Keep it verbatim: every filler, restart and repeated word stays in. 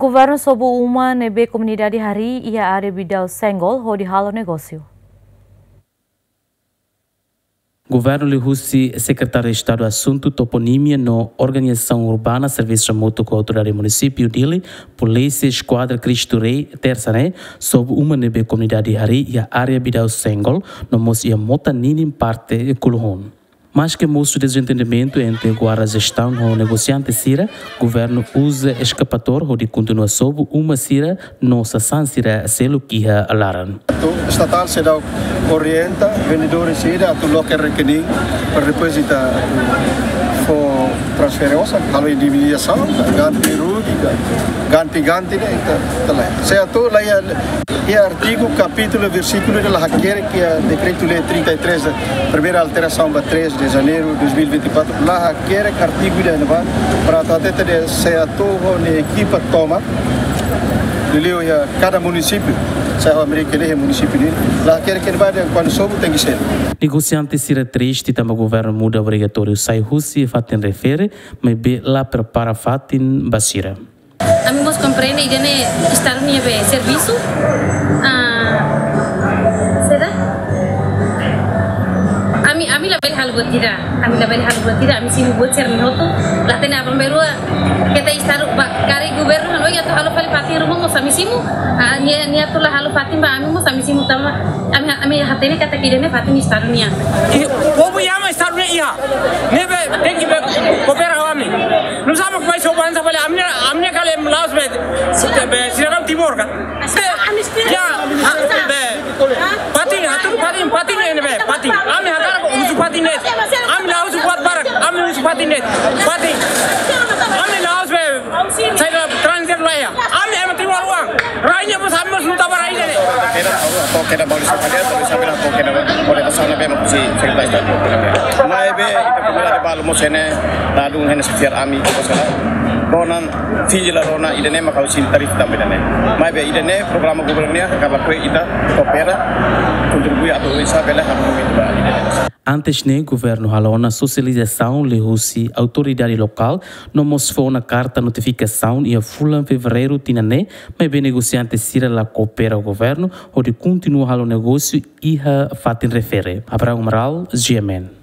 Governu sobu uma ne'ebé komunidade harii iha área Bidau Senggol hodi halo negósiu. Governu liuhusi Sekretáriu Estadu Asuntu Toponímia no Organizasaun Urbana, servisu hamutuk ho Autoridade Munisípiu Dili, Polísia Eskuadra Cristo Rei, tersa ne'e, sobu uma ne'ebé komunidade harii iha área Bidau Senggol, no mós iha mota ninin parte Kuluhun. Maske mosu dezentendimentu entre guarda jestaun ho negosiante sira, governu uza eskavatór hodi kontinua sobu uma sira no sasán sira seluk iha laran. Atu estatál seidauk orienta vendedores sira atu loke rekening para depois ita fó transferénsia, halo indemnizasaun, ganti rugi, ganti-ganti ne'e ita, ita la. Se atu la iha, iha artigu, kapítulu, versíkulu ida la hakerek iha Dekretu-Lei trinta e três, primeira alterasaun ba três de janeiro de dois mil e vinte e quatro, la hakerek artigu ida-ne'ebá para atu hatete de'it se atu ho nia ekipa tomak, liuliu iha kada munisípiu, se ho Amérika ne'e munisípiu ne'e, la hakerek iha ne'ebá dehan kuandu sobu tenke selu. Negosiante sira triste tanba governu muda obrigatóriu sai husi fatin refere, maibé la prepara fatin ba sira. Ami mós komprende ida-ne'e Estadu nia be servisu. Ah, saida? Ami, ami labele halo buat ida. Ami labele halo buat ida. Ami simu buat sira-ne'e hotu. La hatene aban-bainrua. Keta Estadu ba karik governu hanoin atu halo fali fatin ruma mós ami simu. Ah, nia, nia atu la halo fatin ba ami mós ami simu tanba. Ami, ami hatene katak ida-ne'e fatin Estadu nian. I, povu yama Estadu nian iha. Ne'ebé tenke be koopera ho ami. Nusá mak mai sobu hanesan fali ami, ami kala la'ós be, be sidadaun Timor ka. Be, ya, ha, be, fatin, atu fatin, fatin ne'e be, fatin. Ami hakarak husu fatin de'it. Ami la husu buat barak, ami husu fatin de'it. Fatin. Ami la'ós be, saida transfer la iha. Ami ema Timor oan. Rainha mós, ami mós luta ba rainha ne'e. Toke da balu sa kade, balu sa bela toke da balu. Oleh pasal na be mak husi Sekretáriu Estadu. Maibé ita komunidade balu mós ne'e, ladún ne'e sefiar ami, ko pasal. Rona, finje la rona, ida-ne'e mak ha'u sente triste tanba ida-ne'e. Maibé ida-ne'e programa governu nian, hakarak lakohi ita koopera, kontribui atu oinsá bele halo momentu ba ida-ne'e. Antes ne'e, governu halo ona sosializasaun liuhusi autoridade lokál, no mós fó ona karta notifikasaun iha fulan fevereiru tinan ne'e, maibé negosiante sira la koopera ho governu, hodi kontinua halo negósiu iha fatin refere. Abraham Amaral, G M N.